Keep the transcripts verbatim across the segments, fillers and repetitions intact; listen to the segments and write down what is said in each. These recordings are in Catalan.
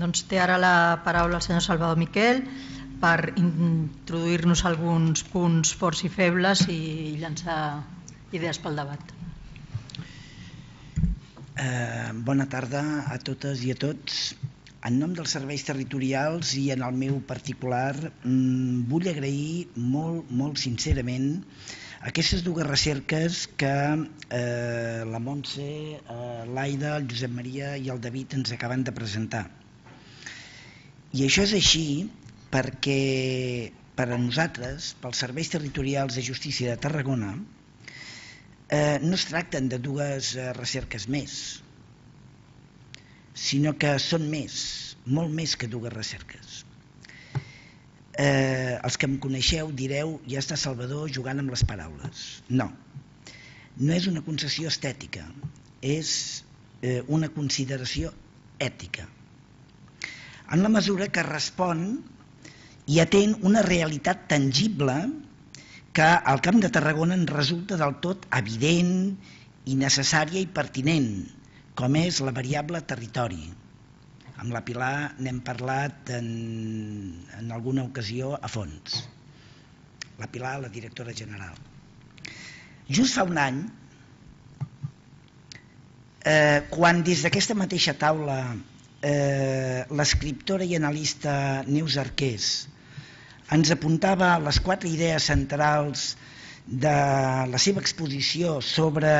Doncs té ara la paraula el senyor Salvador Miquel per introduir-nos alguns punts forts i febles i llançar idees pel debat. Eh, bona tarda a totes i a tots. En nom dels serveis territorials i en el meu particular mmm, vull agrair molt, molt sincerament aquestes dues recerques que eh, la Montse, eh, l'Aida, el Josep Maria i el David ens acaben de presentar. I això és així perquè per a nosaltres, pels serveis territorials de justícia de Tarragona, eh, no es tracten de dues eh, recerques més, sinó que són més, molt més que dues recerques. Eh, els que em coneixeu direu, ja està Salvador jugant amb les paraules. No, no és una concessió estètica, és eh, una consideració ètica, en la mesura que respon i atén una realitat tangible que al Camp de Tarragona ens resulta del tot evident i necessària i pertinent, com és la variable territori. Amb la Pilar n'hem parlat en, en alguna ocasió a fons. La Pilar, la directora general. Just fa un any, eh, quan des d'aquesta mateixa taula eh, l'escriptora i analista Neus Arqués ens apuntava les quatre idees centrals de la seva exposició sobre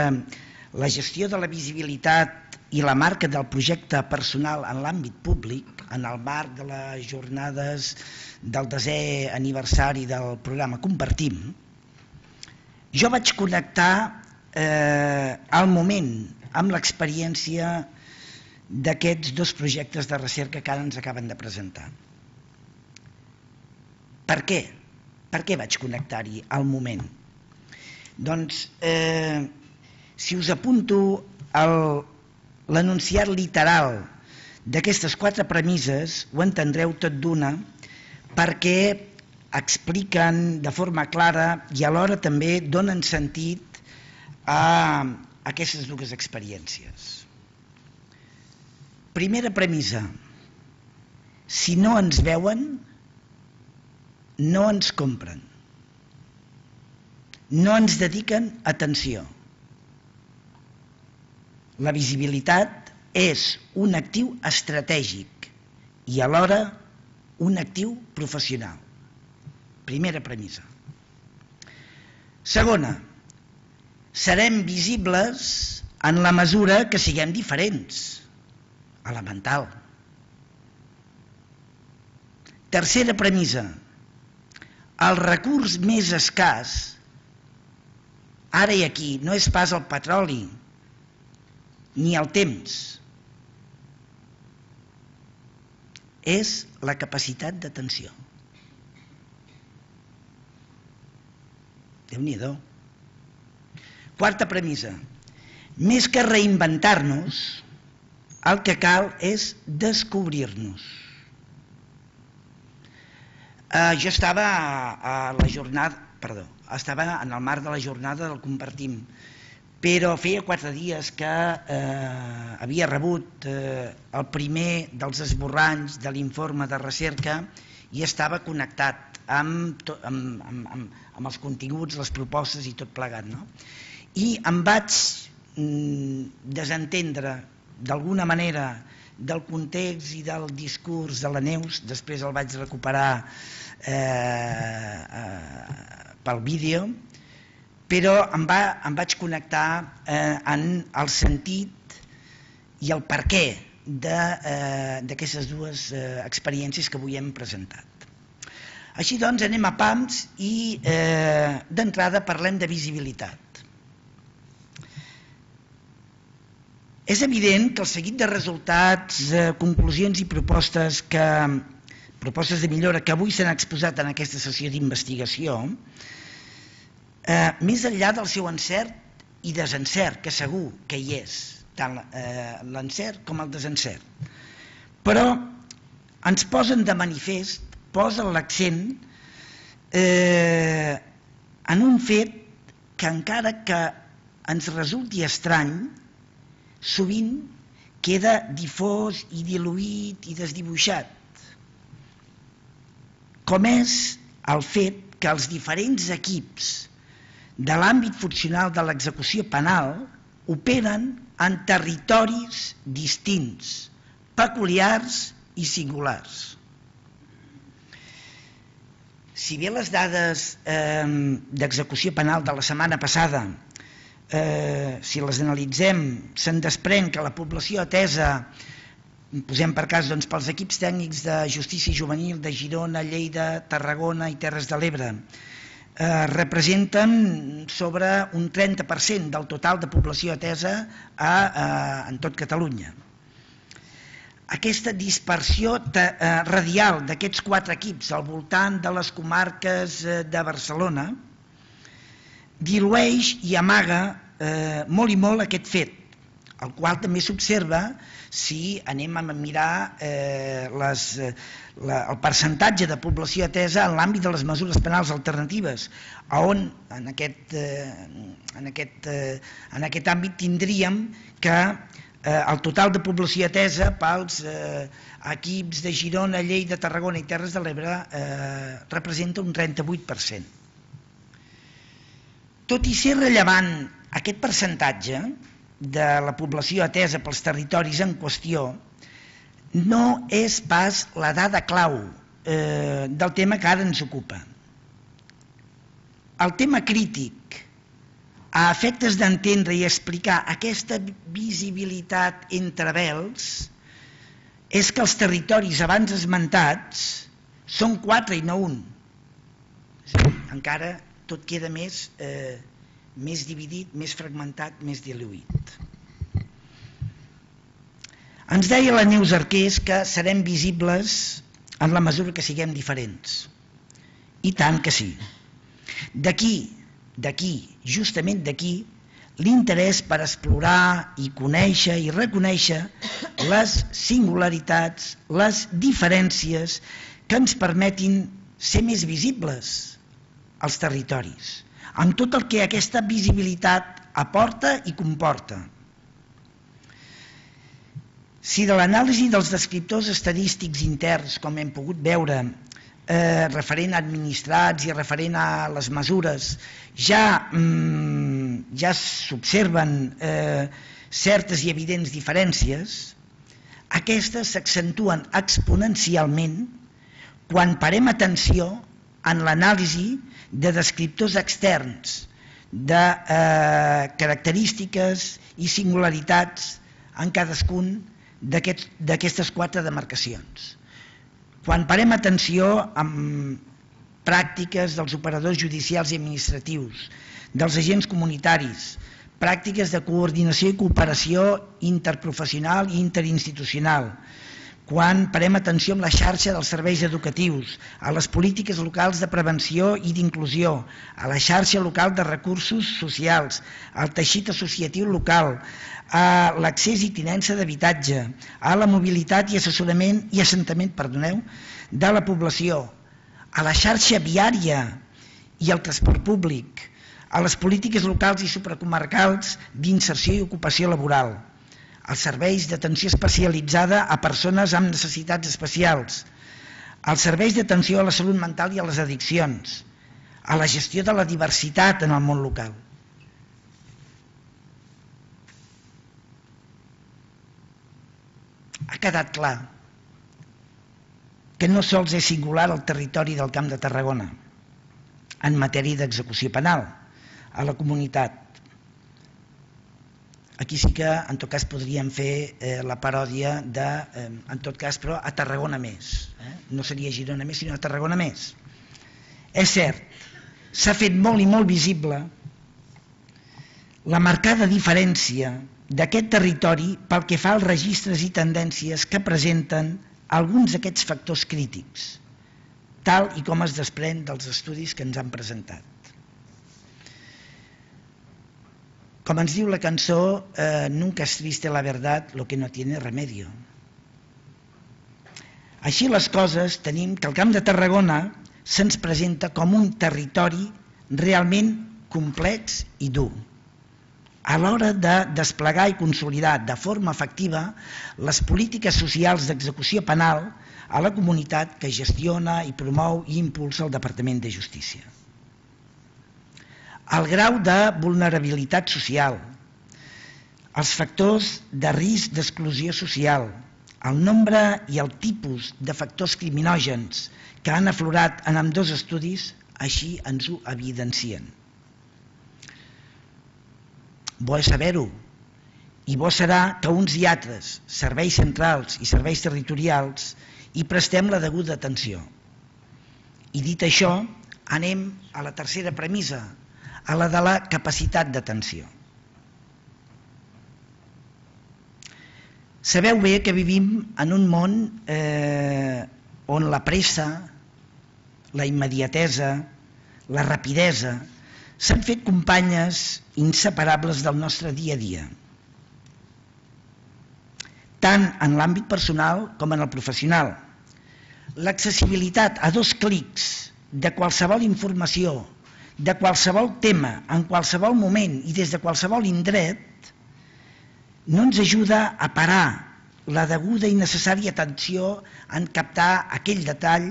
la gestió de la visibilitat i la marca del projecte personal en l'àmbit públic, en el marc de les jornades del desè aniversari del programa Compartim, jo vaig connectar eh, al moment amb l'experiència d'aquests dos projectes de recerca que ara ens acaben de presentar. Per què? Per què vaig connectar-hi al moment? Doncs, eh, si us apunto el l'enunciat literal d'aquestes quatre premisses, ho entendreu tot d'una, perquè expliquen de forma clara i alhora també donen sentit a aquestes dues experiències. Primera premissa: si no ens veuen, no ens compren, no ens dediquen atenció. La visibilitat és un actiu estratègic i alhora un actiu professional. Primera premissa. Segona, serem visibles en la mesura que siguem diferents. Elemental. Tercera premissa. El recurs més escàs, ara i aquí, no és pas el petroli, ni el temps, és la capacitat d'atenció. Déu-n'hi-do. Quarta premissa. Més que reinventar-nos, el que cal és descobrir-nos. Eh, jo estava a la jornada, perdó, estava en el marc de la jornada del Compartim, però feia quatre dies que eh, havia rebut eh, el primer dels esborranys de l'informe de recerca i estava connectat amb, to, amb, amb, amb, amb els continguts, les propostes i tot plegat, no? I em vaig mm, desentendre d'alguna manera del context i del discurs de la Neus, després el vaig recuperar eh, eh, pel vídeo, però em, va, em vaig connectar eh, en el sentit i el perquè d'aquestes eh, dues eh, experiències que avui hem presentat. Així doncs, anem a pams i eh, d'entrada parlem de visibilitat. És evident que el seguit de resultats, eh, conclusions i propostes, que, propostes de millora que avui s'han exposat en aquesta sessió d'investigació, Eh, més enllà del seu encert i desencert, que segur que hi és, tant eh, l'encert com el desencert, però ens posen de manifest, posen l'accent eh, en un fet que encara que ens resulti estrany, sovint queda difós i diluït i desdibuixat, com és el fet que els diferents equips de l'àmbit funcional de l'execució penal operen en territoris distints, peculiars i singulars. Si bé les dades eh, d'execució penal de la setmana passada, eh, si les analitzem, se'n desprèn que la població atesa, posem per cas doncs, pels equips tècnics de justícia juvenil de Girona, Lleida, Tarragona i Terres de l'Ebre, eh, representen sobre un trenta per cent del total de població atesa a, a, en tot Catalunya. Aquesta dispersió radial d'aquests quatre equips al voltant de les comarques de Barcelona dilueix i amaga eh, molt i molt aquest fet, el qual també s'observa si anem a mirar eh, les, la, el percentatge de població atesa en l'àmbit de les mesures penals alternatives, on en aquest, eh, en aquest, eh, en aquest àmbit tindríem que Eh, el total de població atesa pels eh, equips de Girona, Lleida, Tarragona i Terres de l'Ebre eh, representa un trenta-vuit per cent. Tot i ser rellevant aquest percentatge de la població atesa pels territoris en qüestió, no és pas la dada clau eh, del tema que ara ens ocupa. El tema crític a efectes d'entendre i explicar aquesta visibilitat entre vels és que els territoris abans esmentats són quatre i no un. Encara tot queda més, eh, més dividit, més fragmentat, més diluït. Ens deia la Neus Arqués que serem visibles en la mesura que siguem diferents. I tant que sí. D'aquí D'aquí, justament d'aquí, l'interès per explorar i conèixer i reconèixer les singularitats, les diferències que ens permetin ser més visibles als territoris, amb tot el que aquesta visibilitat aporta i comporta. Si de l'anàlisi dels descriptors estadístics interns, com hem pogut veure, Eh, referent a administrats i referent a les mesures, ja, mm, ja s'observen eh, certes i evidents diferències, aquestes s'accentuen exponencialment quan parem atenció en l'anàlisi de descriptors externs, de eh, característiques i singularitats en cadascun d'aquestes quatre demarcacions. Quan parem atenció amb pràctiques dels operadors judicials i administratius, dels agents comunitaris, pràctiques de coordinació i cooperació interprofessional i interinstitucional, quan parem atenció amb la xarxa dels serveis educatius, a les polítiques locals de prevenció i d'inclusió, a la xarxa local de recursos socials, al teixit associatiu local, a l'accés i tinença d'habitatge, a la mobilitat i assessorament i assentament, perdoneu, de la població, a la xarxa viària i al transport públic, a les polítiques locals i supracomarcals d'inserció i ocupació laboral, als serveis d'atenció especialitzada a persones amb necessitats especials, als serveis d'atenció a la salut mental i a les addiccions, a la gestió de la diversitat en el món local. Ha quedat clar que no sols és singular el territori del Camp de Tarragona en matèria d'execució penal a la comunitat. Aquí sí que en tot cas podríem fer eh, la paròdia de, eh, en tot cas però a Tarragona més, eh? No seria Girona més sinó a Tarragona més. És cert, s'ha fet molt i molt visible la marcada diferència d'aquest territori pel que fa als registres i tendències que presenten alguns d'aquests factors crítics, tal i com es desprèn dels estudis que ens han presentat. Com ens diu la cançó, eh, nunca es triste la verdad, lo que no tiene remedio. Així les coses, tenim que el Camp de Tarragona se'ns presenta com un territori realment complex i dur. a l'hora de desplegar i consolidar de forma efectiva les polítiques socials d'execució penal a la comunitat que gestiona i promou i impulsa el Departament de Justícia. El grau de vulnerabilitat social, els factors de risc d'exclusió social, el nombre i el tipus de factors criminògens que han aflorat en ambdós estudis així ens ho evidencien. Bo és saber-ho, i bo serà que uns i altres, serveis centrals i serveis territorials, hi prestem la deguda atenció. I dit això, anem a la tercera premissa, a la de la capacitat d'atenció. Sabeu bé que vivim en un món eh, on la pressa, la immediatesa, la rapidesa s'han fet companyes inseparables del nostre dia a dia, tant en l'àmbit personal com en el professional. L'accessibilitat a dos clics de qualsevol informació, de qualsevol tema, en qualsevol moment i des de qualsevol indret, no ens ajuda a parar la deguda i necessària atenció en captar aquell detall,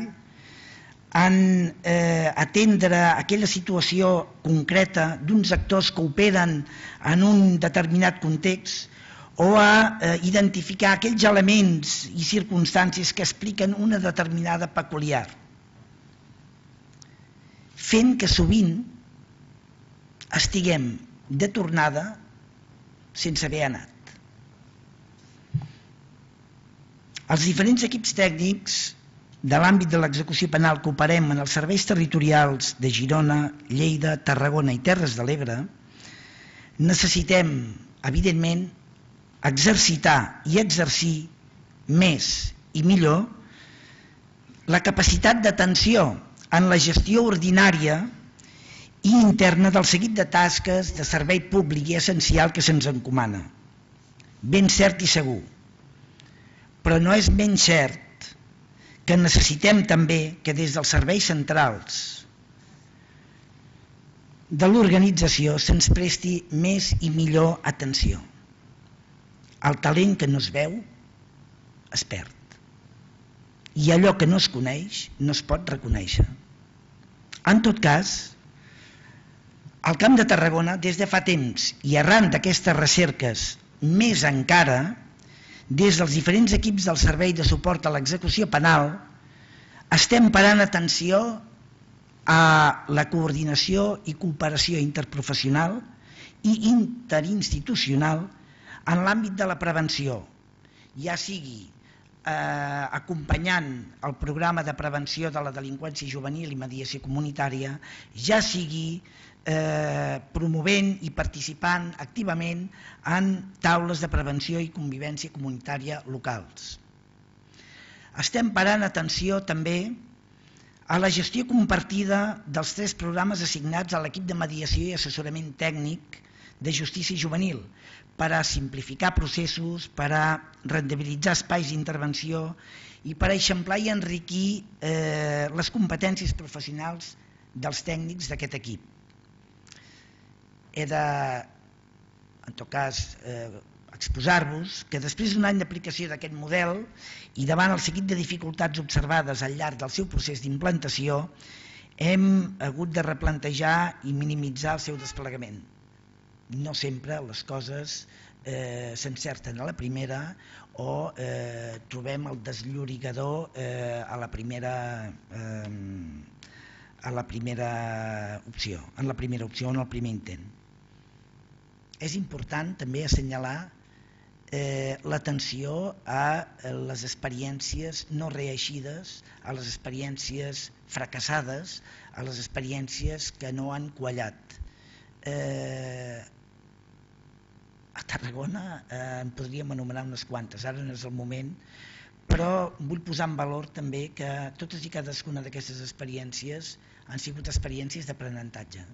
en eh, atendre aquella situació concreta d'uns actors que operen en un determinat context o a eh, identificar aquells elements i circumstàncies que expliquen una determinada peculiar, fent que sovint estiguem de tornada sense haver anat. Els diferents equips tècnics de l'àmbit de l'execució penal que operem en els serveis territorials de Girona, Lleida, Tarragona i Terres de l'Ebre necessitem, evidentment, exercitar i exercir més i millor la capacitat d'atenció en la gestió ordinària i interna del seguit de tasques de servei públic i essencial que se'ns encomana. Ben cert i segur. Però no és menys cert que necessitem també que des dels serveis centrals de l'organització se'ns presti més i millor atenció. El talent que no es veu es perd. I allò que no es coneix no es pot reconèixer. En tot cas, al Camp de Tarragona, des de fa temps i arran d'aquestes recerques, més encara, des dels diferents equips del Servei de Suport a l'Execució Penal, estem parant atenció a la coordinació i cooperació interprofessional i interinstitucional en l'àmbit de la prevenció, ja sigui eh, acompanyant el programa de prevenció de la delinqüència juvenil i mediació comunitària, ja sigui eh, promovent i participant activament en taules de prevenció i convivència comunitària locals. Estem parant atenció també a la gestió compartida dels tres programes assignats a l'equip de mediació i assessorament tècnic de justícia juvenil per a simplificar processos, per a rendibilitzar espais d'intervenció i per a eixamplar i enriquir eh, les competències professionals dels tècnics d'aquest equip. He de, en tot cas, eh, exposar-vos que després d'un any d'aplicació d'aquest model i davant el seguit de dificultats observades al llarg del seu procés d'implantació, hem hagut de replantejar i minimitzar el seu desplegament. No sempre les coses eh, s'encerten a la primera o eh, trobem el desllorigador eh, a la primera eh, a la primera opció, en la primera opció, en el primer intent. És important també assenyalar eh, l'atenció a les experiències no reeixides, a les experiències fracassades, a les experiències que no han quallat. Eh, a Tarragona eh, en podríem anomenar unes quantes, ara no és el moment, però vull posar en valor també que totes i cadascuna d'aquestes experiències han sigut experiències d'aprenentatge.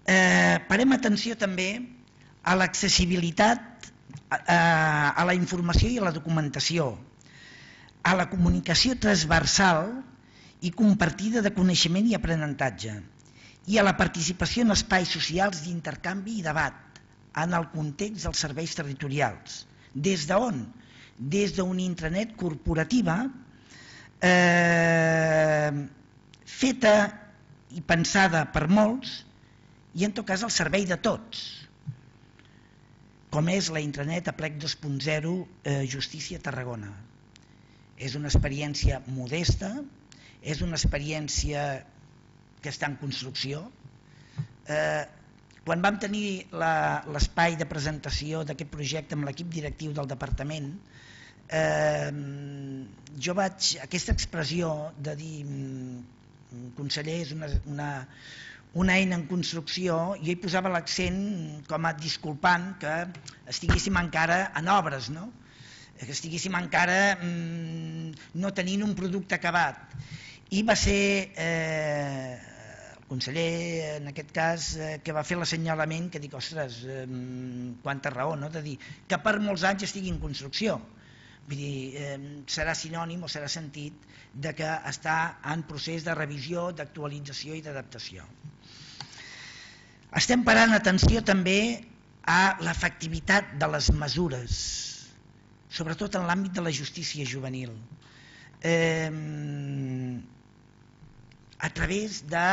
Eh, parem atenció també a l'accessibilitat a, a la informació i a la documentació, a la comunicació transversal i compartida de coneixement i aprenentatge, i a la participació en espais socials d'intercanvi i debat en el context dels serveis territorials. Des d'on? Des d'una intranet corporativa eh, feta i pensada per molts i en tot cas al servei de tots, com és la intranet Aplec dos punt zero eh, Justícia Tarragona. És una experiència modesta, és una experiència que està en construcció. Eh, quan vam tenir l'espai de presentació d'aquest projecte amb l'equip directiu del departament, eh, jo vaig, aquesta expressió de dir conseller és una, una, una eina en construcció, jo hi posava l'accent com a disculpant que estiguéssim encara en obres, no? Que estiguéssim encara mmm, no tenint un producte acabat. I va ser eh, el conseller, en aquest cas, eh, que va fer l'assenyalament que dic, ostres, eh, quanta raó, no? De dir que per molts anys estigui en construcció. Vull dir, eh, serà sinònim o serà sentit de que està en procés de revisió, d'actualització i d'adaptació. Estem parant atenció també a l'efectivitat de les mesures, sobretot en l'àmbit de la justícia juvenil, eh, a través de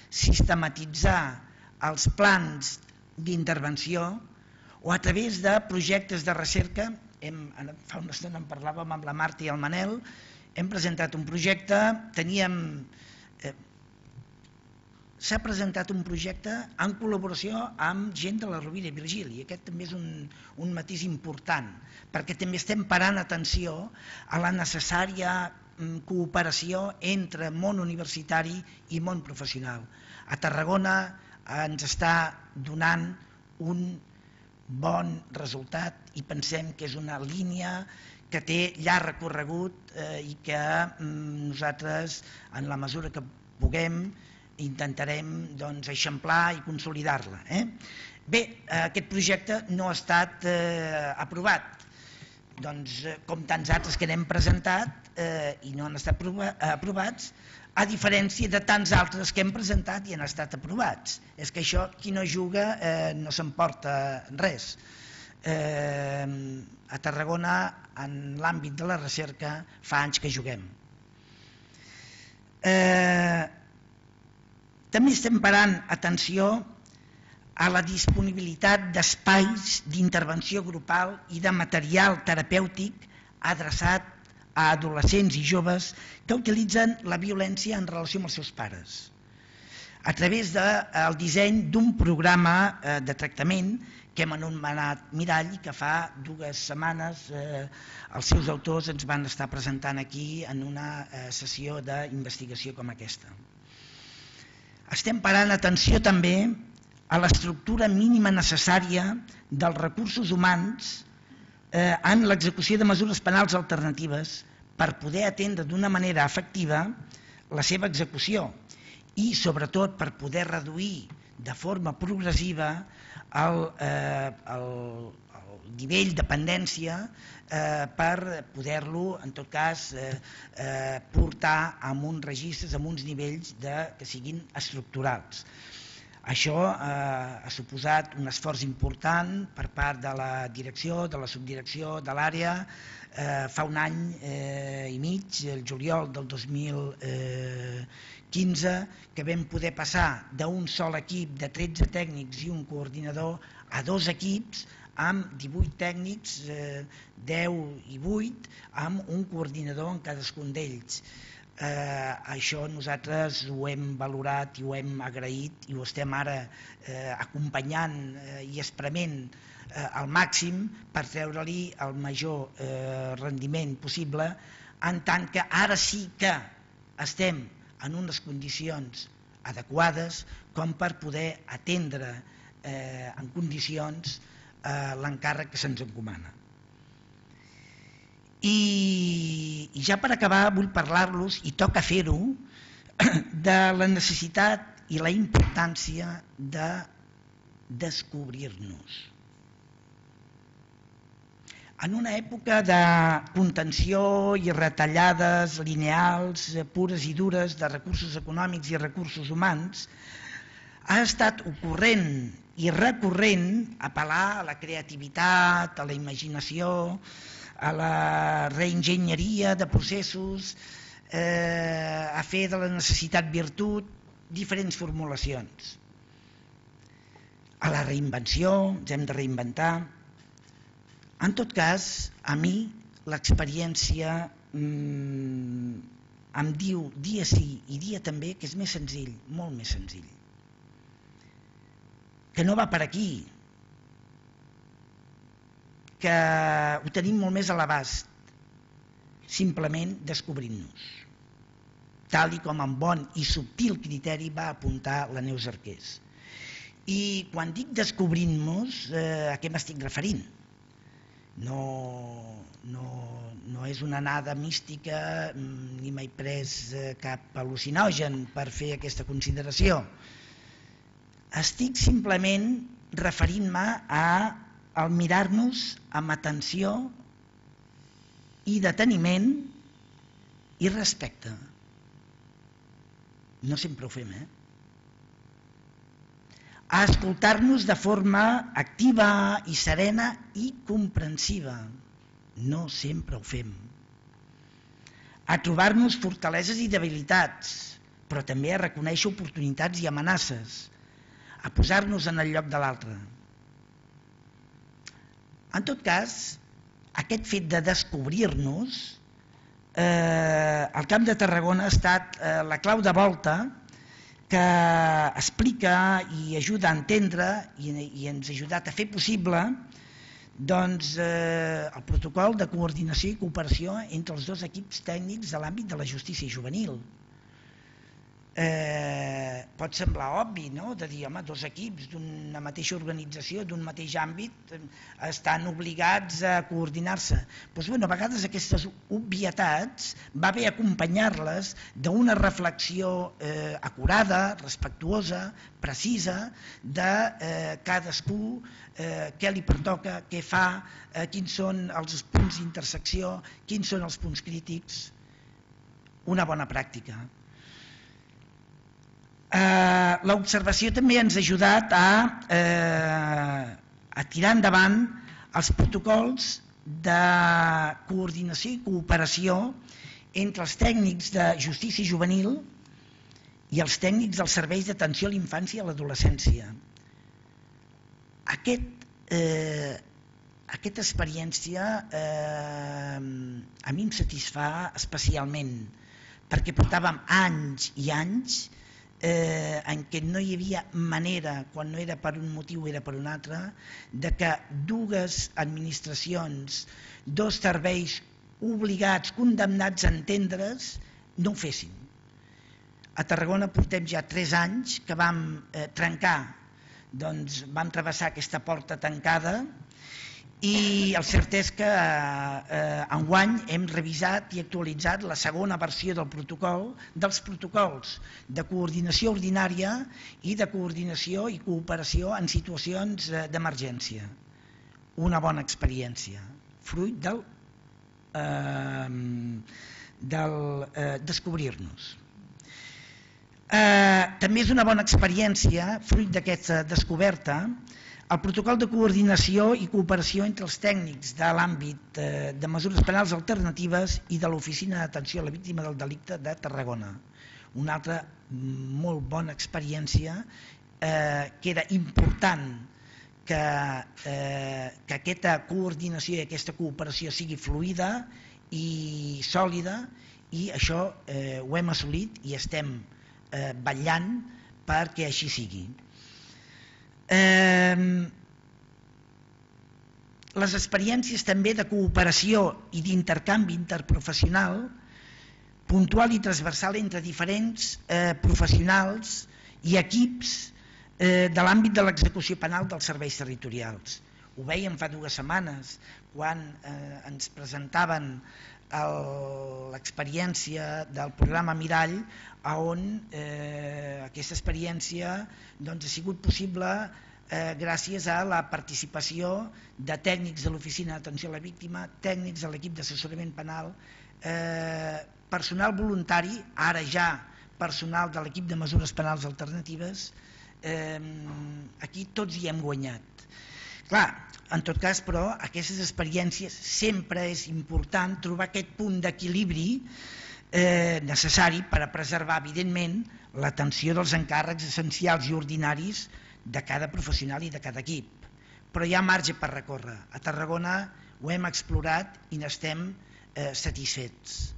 sistematitzar els plans d'intervenció o a través de projectes de recerca. Hem, fa una estona en parlàvem amb la Marta i el Manel, hem presentat un projecte, teníem... Eh, s'ha presentat un projecte en col·laboració amb gent de la Rovira i Virgili, i aquest també és un, un matís important, perquè també estem parant atenció a la necessària cooperació entre món universitari i món professional. A Tarragona ens està donant un bon resultat i pensem que és una línia que té llarg recorregut eh, i que mm, nosaltres, en la mesura que puguem, intentarem doncs, eixamplar i consolidar-la. Eh? Bé, aquest projecte no ha estat eh, aprovat, doncs, com tants altres que n'hem presentat eh, i no han estat aprovats, a diferència de tants altres que hem presentat i han estat aprovats. És que això, qui no juga eh, no s'emporta res. Eh, a Tarragona, en l'àmbit de la recerca, fa anys que juguem. Eh, també estem parant atenció a la disponibilitat d'espais d'intervenció grupal i de material terapèutic adreçat a adolescents i joves que utilitzen la violència en relació amb els seus pares, a través del disseny d'un programa de tractament que hem anomenat Mirall i que fa dues setmanes eh, els seus autors ens van estar presentant aquí en una eh, sessió d'investigació com aquesta. Estem parant atenció també a l'estructura mínima necessària dels recursos humans eh, en l'execució de mesures penals alternatives per poder atendre d'una manera efectiva la seva execució i sobretot per poder reduir de forma progressiva el, eh, el, el nivell de dependència eh, per poder-lo en tot cas eh, eh, portar a uns registres, a uns nivells de, que siguin estructurals. Això eh, ha suposat un esforç important per part de la direcció, de la subdirecció, de l'àrea. Eh, fa un any eh, i mig, el juliol del dos mil quinze, que vam poder passar d'un sol equip de tretze tècnics i un coordinador a dos equips amb divuit tècnics, eh, deu i vuit, amb un coordinador en cadascun d'ells. Eh, això nosaltres ho hem valorat i ho hem agraït i ho estem ara eh, acompanyant eh, i esprement eh, al màxim per treure-li el major eh, rendiment possible, en tant que ara sí que estem en unes condicions adequades com per poder atendre eh, en condicions eh, l'encàrrec que se'ns encomana. I, I ja per acabar vull parlar-los, i toca fer-ho, de la necessitat i la importància de descobrir-nos. En una època de contenció i retallades lineals, pures i dures, de recursos econòmics i recursos humans, Ha estat ocorrent i recurrent apel·lar a la creativitat, a la imaginació, a la reenginyeria de processos, eh, a fer de la necessitat virtut, diferents formulacions. A la reinvenció, ens hem de reinventar. En tot cas, a mi l'experiència mmm, em diu dia sí i dia també que és més senzill, molt més senzill. Que no va per aquí, que ho tenim molt més a l'abast, simplement descobrint-nos, tal i com amb bon i subtil criteri va apuntar la Neus Arqués. I quan dic descobrint-nos, eh, a què m'estic referint? No, no, no és una anada mística, ni m'he pres cap al·lucinogen per fer aquesta consideració. Estic simplement referint-me al mirar-nos amb atenció i deteniment i respecte. No sempre ho fem, eh? A escoltar-nos de forma activa i serena i comprensiva. No sempre ho fem. A trobar-nos fortaleses i debilitats, però també a reconèixer oportunitats i amenaces, a posar-nos en el lloc de l'altre. En tot cas, aquest fet de descobrir-nos, eh, al Camp de Tarragona ha estat eh, la clau de volta que explica i ajuda a entendre i, i ens ha ajudat a fer possible doncs, eh, el protocol de coordinació i cooperació entre els dos equips tècnics de l'àmbit de la justícia juvenil. Eh, pot semblar obvi, no?, de dir, home, dos equips d'una mateixa organització, d'un mateix àmbit, estan obligats a coordinar-se. Doncs, bueno, a vegades aquestes obvietats va bé acompanyar-les d'una reflexió eh, acurada, respectuosa, precisa, de eh, cadascú, eh, què li pertoca, què fa, eh, quins són els punts d'intersecció, quins són els punts crítics. Una bona pràctica. Eh, l'observació també ens ha ajudat a, eh, a tirar endavant els protocols de coordinació i cooperació entre els tècnics de justícia juvenil i els tècnics dels serveis d'atenció a la infància i a l'adolescència. Aquest, eh, aquesta experiència eh, a mi em satisfà especialment, perquè portàvem anys i anys Eh, en què no hi havia manera, quan no era per un motiu era per un altre, de que dues administracions, dos serveis obligats, condemnats a entendre's, no ho fessin. A Tarragona portem ja tres anys que vam eh, trencar, doncs vam travessar aquesta porta tancada i el cert és que eh, enguany hem revisat i actualitzat la segona versió del protocol, dels protocols de coordinació ordinària i de coordinació i cooperació en situacions eh, d'emergència. Una bona experiència, fruit del, eh, del eh, descobrir-nos. Eh, també és una bona experiència, fruit d'aquesta descoberta, el protocol de coordinació i cooperació entre els tècnics de l'àmbit de mesures penals alternatives i de l'Oficina d'Atenció a la Víctima del Delicte de Tarragona. Una altra molt bona experiència, eh, que era important que, eh, que aquesta coordinació i aquesta cooperació sigui fluida i sòlida, i això eh, ho hem assolit i estem eh, vetllant perquè així sigui. Eh, les experiències també de cooperació i d'intercanvi interprofessional puntual i transversal entre diferents eh, professionals i equips eh, de l'àmbit de l'execució penal dels serveis territorials. Ho veiem fa dues setmanes quan eh, ens presentaven l'experiència del programa Mirall, on eh, aquesta experiència doncs, ha sigut possible eh, gràcies a la participació de tècnics de l'Oficina d'Atenció a la Víctima, tècnics de l'equip d'assessorament penal, eh, personal voluntari, ara ja personal de l'equip de mesures penals alternatives, eh, aquí tots hi hem guanyat. Clar, en tot cas, però, aquestes experiències sempre és important trobar aquest punt d'equilibri eh, necessari per a preservar, evidentment, l'atenció dels encàrrecs essencials i ordinaris de cada professional i de cada equip. Però hi ha marge per recórrer. A Tarragona ho hem explorat i n'estem eh, satisfets.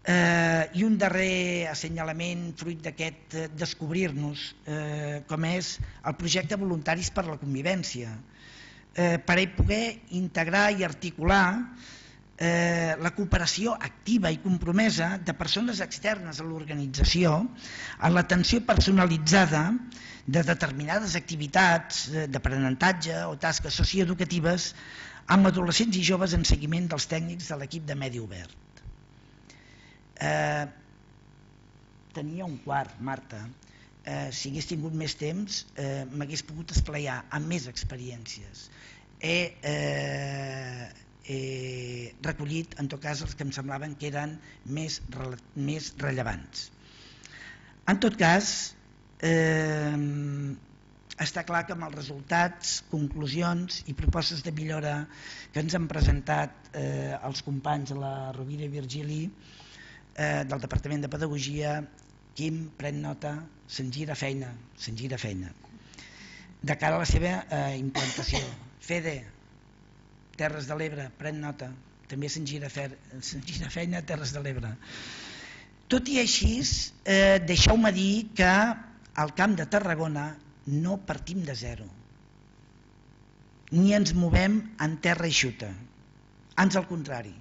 Eh, I un darrer assenyalament fruit d'aquest eh, descobrir-nos, eh, com és el projecte Voluntaris per la Convivència, eh, per a poder integrar i articular eh, la cooperació activa i compromesa de persones externes a l'organització en l'atenció personalitzada de determinades activitats d'aprenentatge o tasques socioeducatives amb adolescents i joves en seguiment dels tècnics de l'equip de Medi Obert. Eh, tenia un quart, Marta. Eh, si hagués tingut més temps eh, m'hagués pogut esplaiar amb més experiències. He, eh, he recollit en tot cas els que em semblaven que eren més, més rellevants. En tot cas, eh, està clar que amb els resultats, conclusions i propostes de millora que ens han presentat eh, els companys de la Rovira i Virgili eh, del Departament de Pedagogia, Quim, pren nota, se'n gira feina, se'n gira feina. De cara a la seva eh, implantació. Fede, Terres de l'Ebre, pren nota, també se'n gira, se'n gira feina a Terres de l'Ebre. Tot i així, eh, deixeu-me dir que al Camp de Tarragona no partim de zero, ni ens movem en terra eixuta, ans al contrari.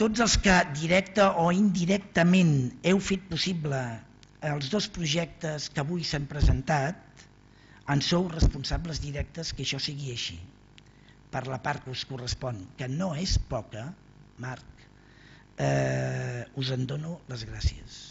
Tots els que directe o indirectament heu fet possible els dos projectes que avui s'han presentat en sou responsables directes que això sigui així, per la part que us correspon, que no és poca, Marc, eh, us en dono les gràcies.